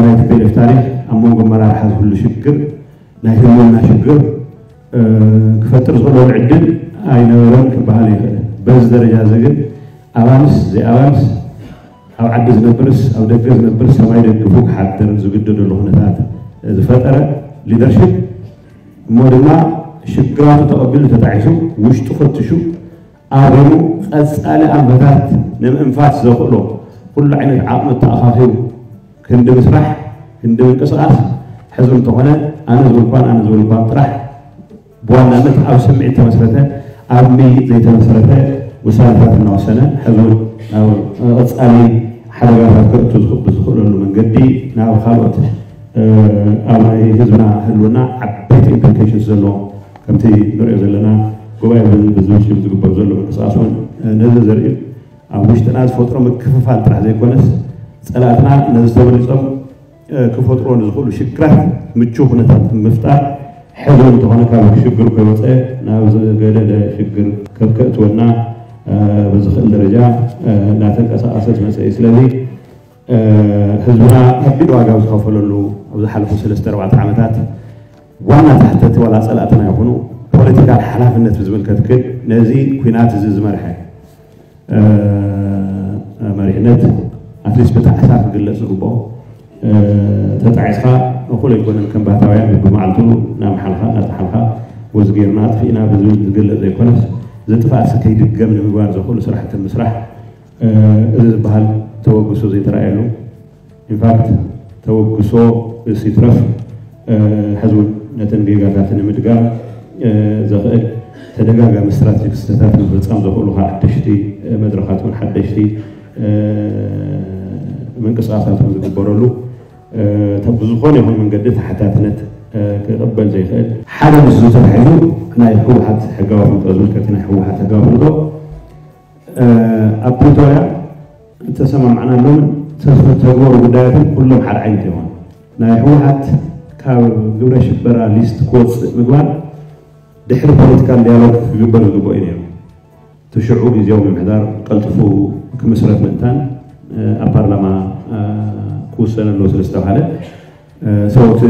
ናይ ቲ ፒ ኤል ኤፍ ታሪኽ ኣብ መንጎ ኣመራርሓ ዝህሉ ሽግር ናይ ህልውና ሽግር ክፈጥር ዝኽእለሉ ዕድል ኣይነበረን ክበሃል ይኽእል። በዚ ደረጃ እዚ ግን ኣባንስ ዘይኣባንስ ኣብ ዓዲ ዝነብርስ ኣብ ደገ ዝነብርስ ሰማይ ደግፉ ክሓድር ዝግደደሉ ኩነታት ዝፈጠረ ሊደርሽፕ እሞ ድማ ሽግራቱ ተቐቢሉ ተጣዒሱ ውሽጡ ፈትሹ ኣሪሙ ቀፃሊ ኣንፈታት ንምእንፋት ዘኽእሎ ኩሉ ዓይነት ዓቕሚ ተኣኻኺቡ ክንዲ ምስራሕ ክንዲ ምንቅስቓስ ሕዚ እንተኾነ ኣነ ዝብል እኳን ኣነ ዝብል እኳን ጥራሕ ብዋናነት ኣብ ስምዒት ተመስረተ ኣብ ምይይጥ ዘይተመስረተ ውሳነታት እናወሰነ ሕዚ እውን ናብ ቀፃሊ ሓደጋታት ከእቱ ዝኽእሉ ዝኽእለሉ መንገዲ ናብ ካልኦት ኣብ ናይ ህዝብና ህልውና ዓበይቲ ኢምፕሊኬሽንስ ዘለዎም ከምቲ ንሪኦ ዘለና ጉባኤ ብዝብል ሽም ዝግበር ዘሎ ምንቅስቃስ እውን ነዚ ዘርኢ ኣብ ውሽጥና ዝፈጥሮ ምክፍፋል ጥራሕ ዘይኮነስ ፀላእትና ነዚ ተበሊፆም ክፈጥሮ ንዝኽእሉ ሽግራት ምቹ ኩነታት ምፍጣር ሕዚ እንተኾነ ካብ ሽግር ከይወፀ ናብ ዝገደደ ሽግር ከብከእትወና ብዝኽእል ደረጃ እናተንቀሳቀሰ ዝመፀ እዩ። ስለዚ ህዝብና ከቢድ ዋጋ ኣብ ዝኸፈለሉ ኣብ ዝሓለፉ ሰለስተ ኣርባዕተ ዓመታት ዋና ተሓተቲ ዋላ ፀላእትና ይኹኑ ፖለቲካል ሓላፍነት ብዝምልከት ግን ነዚ ኩናት እዚ ዝመርሐ መሪሕነት ኣትሊስት ብጣዕሳ ክግለፅ ዝግብኦ ተጣዒስካ እኹል ኣይኮነን ከም ባህታውያን ብመዓልቱ እናመሓልካ እናጠሓልካ ወዚ ጌርና ኣጥፊእና ብዝብል ዝግለፅ ዘይኮነስ እዚ ጥፍኣት ከይድገም ንምግባር ዘኽእሉ ስራሕቲ ምስራሕ እዚ ዝበሃል ተበግሶ ዘይተረኣየሉ ኢንፋክት ተበግሶ ሲትረፍ ሕዚ እውን ነተን ጌጋታት ንምድጋም ዘኽእል ተደጋጋሚ ስትራቴጂ ክስተታት ንምፍፃም ዘኽእሉ ሓደሽቲ መድረኻት እውን ሓደሽቲ ምንቅስቃሳት እውን ዝግበረሉ ብዝኾነ ይኹን መንገዲ ተሓታትነት ክቕበል ዘይኽእል ሓደ ምስዚ ተታሒዙ ናይ ህወሓት ሕጋዊ ፍልጦ ዝምልከት ናይ ህወሓት ሕጋዊ ፍልጦ ኣብ ፕሪቶርያ እተሰማማዕናሎምን ዝተተግበሩ ጉዳያትን ኩሎም ሓደ ዓይነት እዮም። ናይ ህወሓት ካብ ግብረ ሽበራ ሊስት ክወፅእ ምግባር ድሕሪ ፖለቲካል ዲያሎግ ክግበር ዝግብኦ እዩ ነይሩ። እቲ ሽዑ ግዜያዊ ምምሕዳር ቀልጥፉ ክምስረት ምእንታን ኣብ ፓርላማ ክውሰን ኣለዎ ስለ ዝተባሃለ ሰው እቲ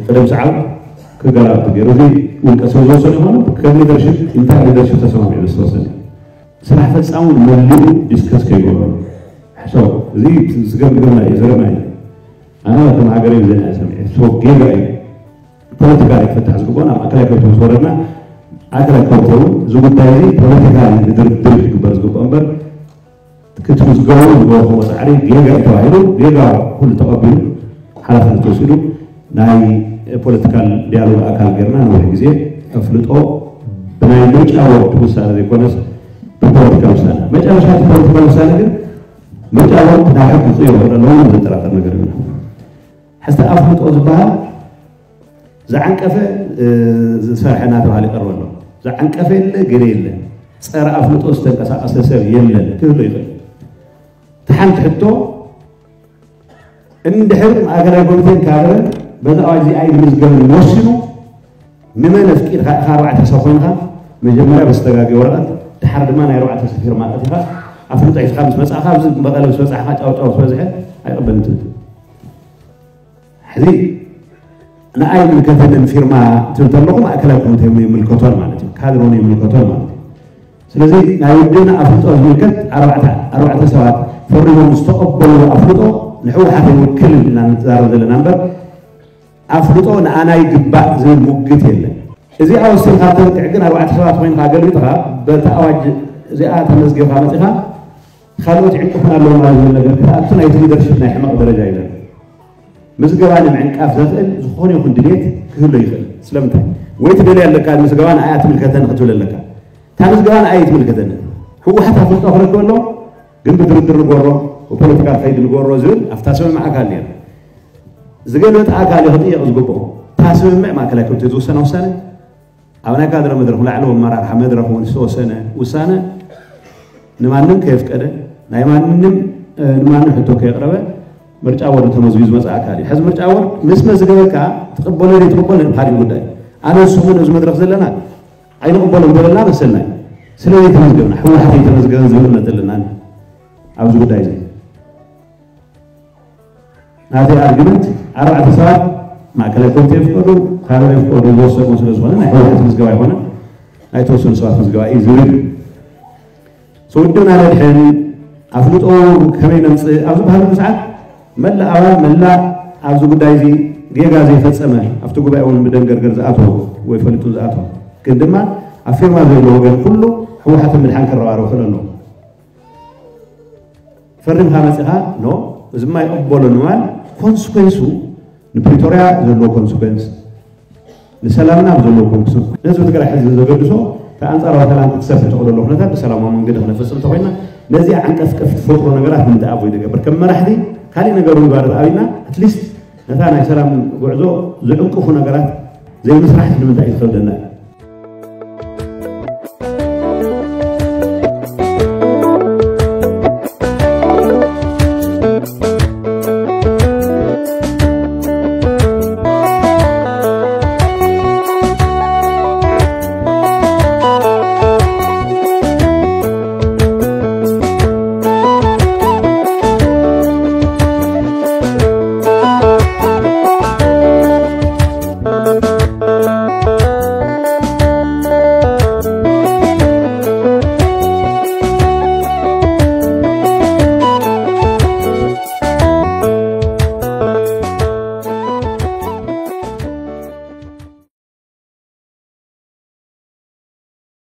ቅደም ሰዓብ ክገላብጥ ገይሩ እዚ ውልቀ ሰብ ዝወሰነ ይኾኑ ከም ሊደርሽፕ ኢንታይር ሊደርሽፕ ተሰማሚዑ ዝተወሰነ ስራሕ ፈፃሙ መሊኡ ዲስከስ ከይገበሩ ሕሰብ እዚ ዝገምግምና እዩ ዝረማ እዩ ኣነ ከም ሃገር እዩ ዘና ሰሚዐ ሶ ጌጋ እዩ ፖለቲካ ክፍታሕ ዝግብኦ ናብ ማእከላይ ኮሚቴ ምስ ወረድና ማእከላይ ኮሚቴ እውን እዚ ጉዳይ እዚ ፖለቲካ ድርድር ክግበር ዝግብኦ እምበር ክትምዝገቡ ዝገበርኩሞ ፃዕሪ ጌጋ እዩ ተባሂሉ ጌጋ ኩሉ ተቐቢሉ ሓላፍነት ተወሲዱ ናይ ፖለቲካል ዲያሎግ ኣካል ጌርና ነዊሕ ግዜ ኣፍልጦ ብናይ ምርጫ ቦርድ ውሳነ ዘይኮነስ ብፖለቲካል ውሳነ መጨረሻ እቲ ፖለቲካል ውሳነ ግን ምርጫ ቦርድ ናብ ሕጊ ክቕይሮ ኣለዎ ዘጠራጠር ነገር የብልና ሕዝቲ ኣፍልጦ ዝበሃል ዝዓንቀፈ ዝሰርሐ እናተባሃለ ይቀርበ ኣሎ ዝዓንቀፈ የለ ገለ የለ ፀረ ኣፍልጦ ዝተንቀሳቀሰ ሰብ የለን ክህሎ ይኽእል እቲ ሓንቲ ሕቶ እንድሕር ማእከላይ ኮሚቴን ካድረን በዚ ኣዋጅ እዚ ኣይምዝገብን ወሲኑ ንመን ኣፍቂድካ ኢኻ ኣርባዕተ ሰብ ኮይንካ መጀመርያ በስተጋጊ ወረቐት ድሓር ድማ ናይ ኣርባዕተ ሰብ ፊርማ ኣእቲኻ ኣፍልጦ ሒዝካ ምስ መጻእካ ኣብዚ መቐለ ምስ በጻሕካ ጫውጫው ዝበዝሐ ኣይቕበልን ትብል ሕዚ ንኣይ ምልከተንን ፊርማ ትብል ተለኹ ማእከላይ ኮሚቴ ይምልከቶን ማለት እዩ ካድሮን ይምልከቶን ማለት እዩ ስለዚ ናይ ውድብና ኣፍልጦ ዝምልከት ኣርባዕተ ሰባት ፈሪሞም ዝተቐበሉ ኣፍልጦ ንሕወሓት ይውክል ኢና ንዛረብ ዘለና እምበር ኣፍልጦ ንኣና ይግባእ ዝብል ሙግት የለን እዚኣ ወሲንካ ተንክዕ ግን ኣርባዕተ ሰባት ኮይንካ ገልቢጥካ በቲ ኣዋጅ እዚኣ ተመዝገብካ መፂኻ ካልኦት ይዕንቅፉና ኣለዉ ማለት ዝብል ነገር ክትኣቱ ናይቲ ሊደርሽፕ ናይ ሕመቕ ደረጃ ይለን ምዝገባ ንምዕንቃፍ ዘኽእል ዝኾነ ይኹን ድሌት ክህሎ ይኽእል ስለምንታይ ወይ ትደልያ ኣለካ ምዝገባ ንኣያ ትምልከተኒ ክትብል ኣለካ እታ ምዝገባ ንኣየ ትምልከተኒ ህወሓት ኣፍልጦ ክረክብ ኣሎ ግን ብድርድር ንጎሮ ብፖለቲካል ከይድ ንጎሮ ዝብል ኣብታ ስምምዕ ኣካል ነይሩ ዝገለበጠ ኣካል እዩ ክጥየቕ ዝግብኦ እታ ስምምዕ ማእከላይ ኮሚቴ ዝውሰና ውሳነ ኣብ ናይ ካድረ መድረኽ ላዕለዎ ኣመራርሓ መድረኽ እውን ዝተወሰነ ውሳነ ንማንም ከየፍቀደ ናይ ማንም ንማንም ሕቶ ከየቕረበ ምርጫ ቦርድ ተመዝጊቡ ዝመፅእ ኣካል እዩ። ሕዚ ምርጫ ቦርድ ምስ መዝገበካ ትቕበሎ ዘይትቕበሎ ካሊእ ጉዳይ። ኣነ ንስኹም ነዚ መድረኽ ዘለና ኣይንቕበሎን ዘለና መሰልና እዩ። ስለዚ ተመዝገብና ህወሓት ኣይተመዝገበን ዝብል እምነት ኣለና ኣብዚ ጉዳይ እዚ። ናተይ ኣርጊመንት ኣርባዕተ ሰባት ማእከላይ ኮሚቴ ይፍቀዱ፣ ካድረ ይፍቀዱ ዝወሰኑ ስለ ዝኾነ ናይ ህወሓት ምዝገባ ኣይኮነን ናይ ተወሰኑ ሰባት ምዝገባ እዩ ዝብል። ውድብና ነድሕን ኣፍልጦ ከመይ ነምፅእ ኣብ ዝበሃለሉ ሰዓት መላእ ኣባል መላእ ኣብዚ ጉዳይ እዚ ጌጋ ዘይፈፀመ ኣብቲ ጉባኤ እውን ብደንገርገር ዝኣተወ ወይ ፈሊጡ ዝኣተወ ግን ድማ ኣብ ፊርማ ዘሎ ወገን ኩሉ ህወሓትን ምድሓን ከረባረብ ክእል ኣለዎ። ፈሪምካ መፂኻ ኖ እዚ ማ ይቕበሎ ንማል ኮንስኮንሱ ንፕሪቶርያ ዘለዎ ኮንስኮንስ ንሰላምና ኣብ ዘለዎ ኮንስኮንስ ነዚ ትግራይ ሕዚ ዘገድሶ ኣንፃራዊ ሰላም ክትሰፍሕ ተኽእሎ ኩነታት ብሰላማዊ መንገዲ ክነፈፅም እንተኮይና ነዚኣ ዓንቀፍቀፍ ትፈጥሮ ነገራት ንምንታይ ኣቮይድ ይገብር ከም መራሕቲ ካሊእ ነገሩ ንባር ኣብና ኣትሊስት ነታ ናይ ሰላም ጉዕዞ ዝዕንቅፉ ነገራት ዘይምስራሕ ንምንታይ እዩ ዝኸብደና